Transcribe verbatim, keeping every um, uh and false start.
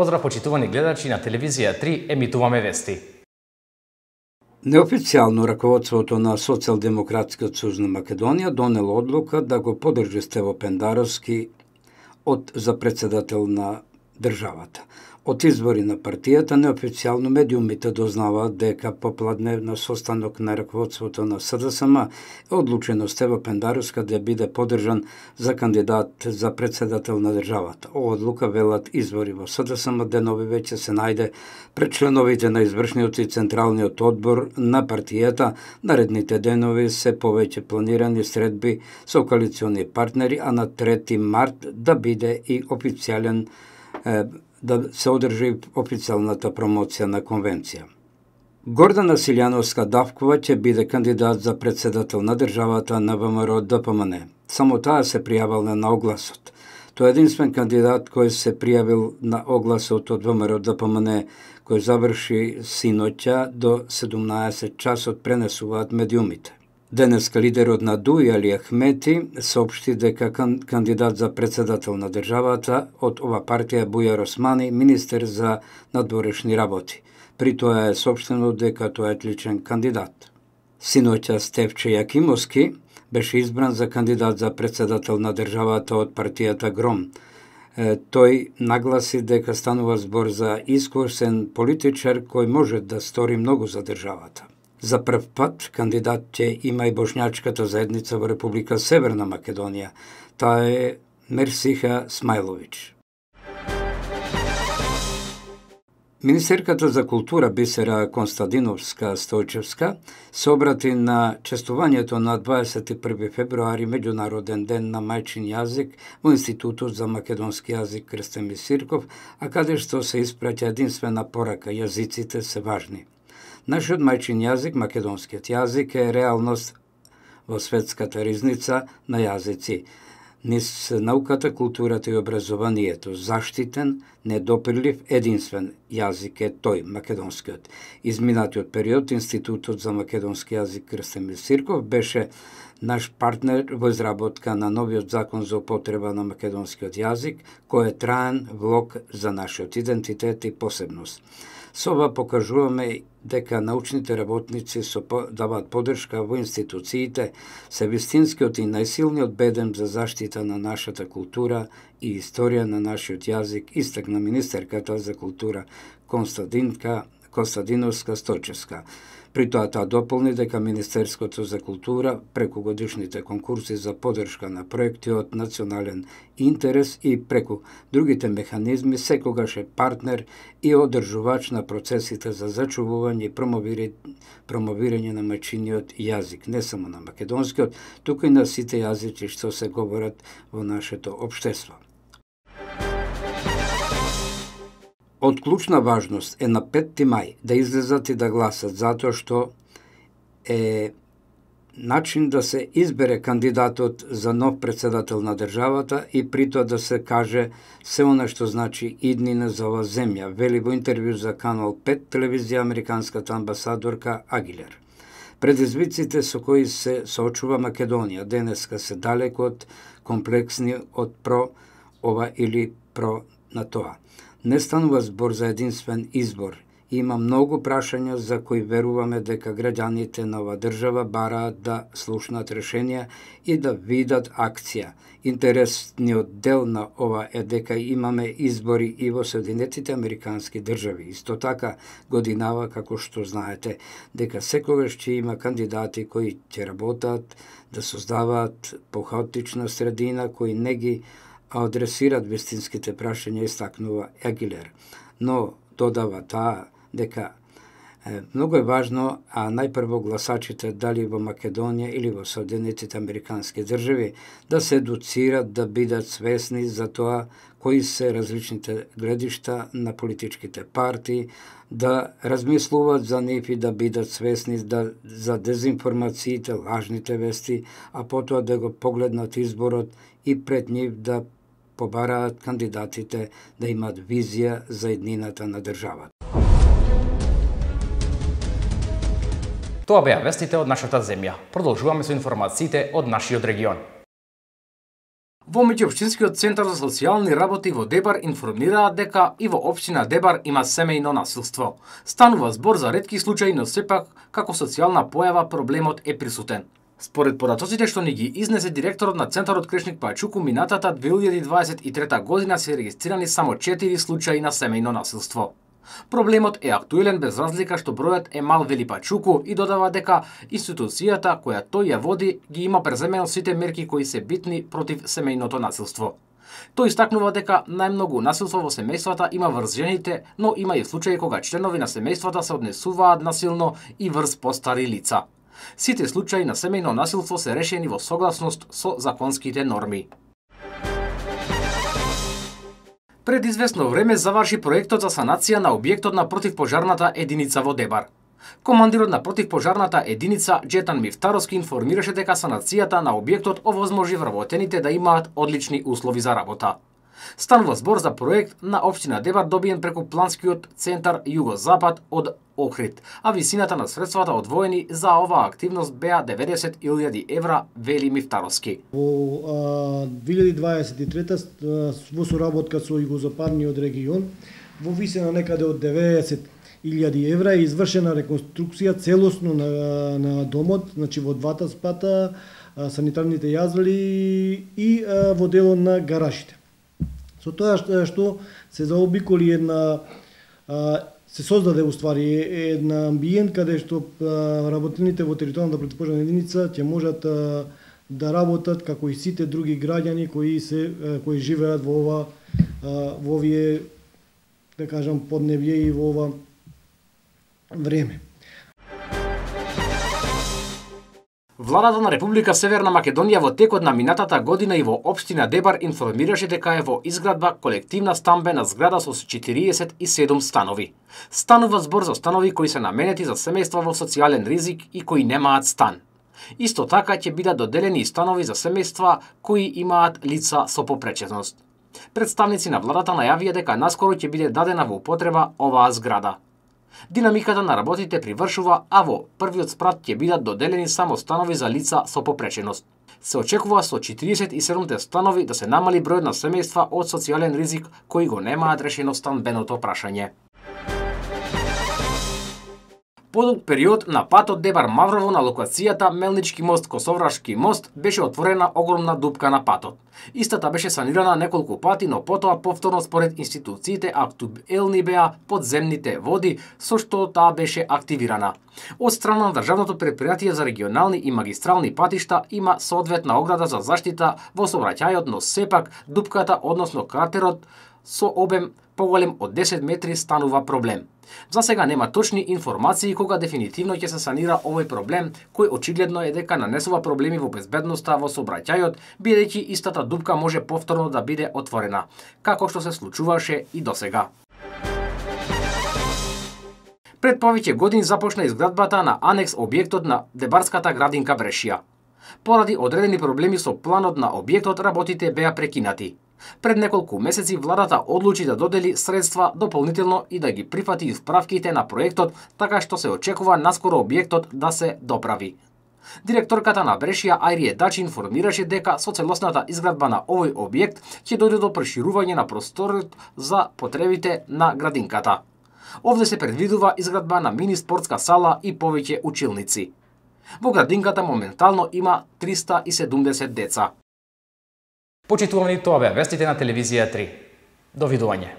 Поздрав почитувани гледачи на телевизија три, емитуваме вести. Неофицијално раководството на Социјалдемократскиот сојуз на Македонија донело одлука да го подржи Стево Пендаровски од за председател на државата. Од избори на партијата, неофицијално медиумите дознаваат дека по пладневна состанок на раководството на СДСМ е одлучено Стево Пендаровски да биде подржан за кандидат за председател на државата. Ова одлука, велат извори во СДСМ, денови веќе се најде пред членовите на извршниот и централниот одбор на партијата. Наредните денови се повеќе планирани средби со коалициони партнери, а на трети март да биде и официјален е, да се одржи официјалната промоција на конвенција. Гордана Силјановска-Давкова ќе биде кандидат за председател на државата на ВМРО-ДПМН. Само таа се пријавила на огласот. Тој е единствен кандидат кој се пријавил на огласот од ВМРО-ДПМН, кој заврши синоќа до седумнаесет часот, пренесуваат медиумите. Денеска лидерот на ДУИ Али Ахмети соопшти дека кандидат за председател на државата од ова партија Бујар Османи, министер за надворешни работи. При тоа е соопштено дека тој е одличен кандидат. Синоќа Стефче Јакимовски беше избран за кандидат за председател на државата од партијата ГРОМ. Е, тој нагласи дека станува збор за искусен политичар кој може да стори многу за државата. За прв пат кандидат ќе има и бошњачката заедница во Република Северна Македонија. Таа е Мерсиха Смајлович. Министерката за култура Бисера Констадиновска-Стојчевска се обрати на честувањето на дваесет и први февруари, меѓународен ден на мајчин јазик, во Институтот за македонски јазик Крстен Мисирков, а каде што се испраќа единствена порака: јазиците се важни. Нашиот мајчин јазик, македонскиот јазик, е реалност во светската ризница на јазици. Низ науката, културата и образованието, заштитен, недопирлив, единствен јазик е тој, македонскиот. Изминатиот период Институтот за македонски јазик Крстен Мисирков беше наш партнер во изработка на новиот закон за употреба на македонскиот јазик, кој е траен влог за нашиот идентитет и посебност. Со ова покажуваме дека научните работници со даваат поддршка во институциите, се вистинскиот и најсилниот бедем за заштита на нашата култура и историја на нашиот јазик, истакна министерката за култура Константинка Констадиновска-Стојчевска. При тоа таа дополни дека Министерството за култура преку годишните конкурси за поддршка на проекти од национален интерес и преку другите механизми секогаш е партнер и одржувач на процесите за зачувување и промовирање на мајчиниот јазик, не само на македонскиот, туку и на сите јазици што се говорат во нашето општество. Од клучна важност е на петти мај да излезат и да гласат, затоа што е начин да се избере кандидатот за нов председател на државата и при тоа да се каже се она што значи иднина за ова земја, вели во интервју за Канал пет телевизија американската амбасадорка Агилер. Предизвиците со кои се соочува Македонија денеска се далеко од комплексни од про ова или про на тоа. Не станува збор за единствен избор. Има многу прашања за кои веруваме дека граѓаните на ова држава бараат да слушнат решенија и да видат акција. Интересниот дел на ова е дека имаме избори и во Соединетите Американски држави. Исто така годинава, како што знаете, дека секогаш ќе има кандидати кои ќе работат да создаваат похаотична средина, кои не ги адресират вистинските прашања, истакнува Агилер. Но додава таа дека е, многу е важно, а најпрво гласачите, дали во Македонија или во Соединетите Американски држави, да се едуцират, да бидат свесни за тоа кои се различните гледишта на политичките партии, да размислуваат за нив и да бидат свесни да, за дезинформациите, лажните вести, а потоа да го погледнат изборот и пред нив да побараат кандидатите да имат визија за еднината на државата. Тоа беа вестите од нашата земја. Продолжуваме со информациите од нашиот регион. Во меѓуопштинскиот центар за социјални работи во Дебар информираат дека и во општина Дебар има семејно насилство. Станува збор за ретки случаи, но сепак како социјална појава проблемот е присутен. Според податоците што ни ги изнесе директорот на Центарот Крешник Пајчуку, минатата две илјади дваесет и трета година се регистрирани само четири случаи на семејно насилство. Проблемот е актуелен без разлика што бројот е мал, вели Пајчуку, и додава дека институцијата која тој ја води ги има преземено сите мерки кои се битни против семејното насилство. Тој истакнува дека најмногу насилство во семејствата има врз жените, но има и случаи кога членови на семејствата се однесуваат насилно и врз постари лица. Сите случаи на семејно насилство се решени во согласност со законските норми. Пред известно време заврши проектот за санација на објектот на противпожарната единица во Дебар. Командирот на противпожарната единица Джетан Мифтаровски информираше дека санацијата на објектот овозможи вработените да имаат одлични услови за работа. Станува збор за проект на општина Дебар добиен преку планскиот центар Југозапад од Охрид, а висината на средствата одвоени за оваа активност беа деветдесет илјади евра, вели Мифтаровски. Во две илјади дваесет и трета во соработка со Југозападниот регион во висина некаде од деветдесет илјади евра е извршена реконструкција целосно на, на домот, значи во двата спата, санитарните јазали и во делот на гаражите. Со тоа што се заобиколи една, се создаде уствари една амбиент каде што работените во територијалната противпожарна единица ќе можат да работат како и сите други граѓани кои се кои живеат во ова во овие, да кажам, поднебје и во ова време. Владата на Република Северна Македонија во текот на минатата година и во општина Дебар информираше дека е во изградба колективна стамбена зграда со четириесет и седум станови. Станува збор за станови кои се наменети за семејства во социјален ризик и кои немаат стан. Исто така ќе бидат доделени и станови за семејства кои имаат лица со попреченост. Представници на владата најавија дека наскоро ќе биде дадена во употреба оваа зграда. Динамиката на работите привршува, а во првиот спрат ќе бидат доделени само станови за лица со попреченост. Се очекува со четириесет и седумте станови да се намали бројот на семејства од социјален ризик кои го немаат решено станбеното прашање. Подолг период на патот Дебар Маврово на локацијата Мелнички мост Косоврашки мост беше отворена огромна дупка на патот. Истата беше санирана неколку пати, но потоа повторно според институциите актуелни беа подземните води, со што таа беше активирана. Од страна на Државното претпријатие за регионални и магистрални патишта има соодветна ограда за заштита во сообраќајот, но сепак дупката, односно кратерот со обем поголем од десет метри станува проблем. За сега нема точни информации кога дефинитивно ќе се санира овој проблем, кој очигледно е дека нанесува проблеми во безбедноста во сообраќајот, бидејќи истата дупка може повторно да биде отворена, како што се случуваше и досега. Пред повеќе години започна изградбата на анекс објектот на Дебарската градинка Брешија. Поради одредени проблеми со планот на објектот, работите беа прекинати. Пред неколку месеци владата одлучи да додели средства дополнително и да ги прифати исправките на проектот, така што се очекува наскоро објектот да се доправи. Директорката на Брешија Ајрие Дачи информираше дека со целосната изградба на овој објект ќе дојде до проширување на просторот за потребите на градинката. Овде се предвидува изградба на мини спортска сала и повеќе училници. Во градинката моментално има триста и седумдесет деца. Почитувани, тоа беа вестите на телевизија три. Довидување.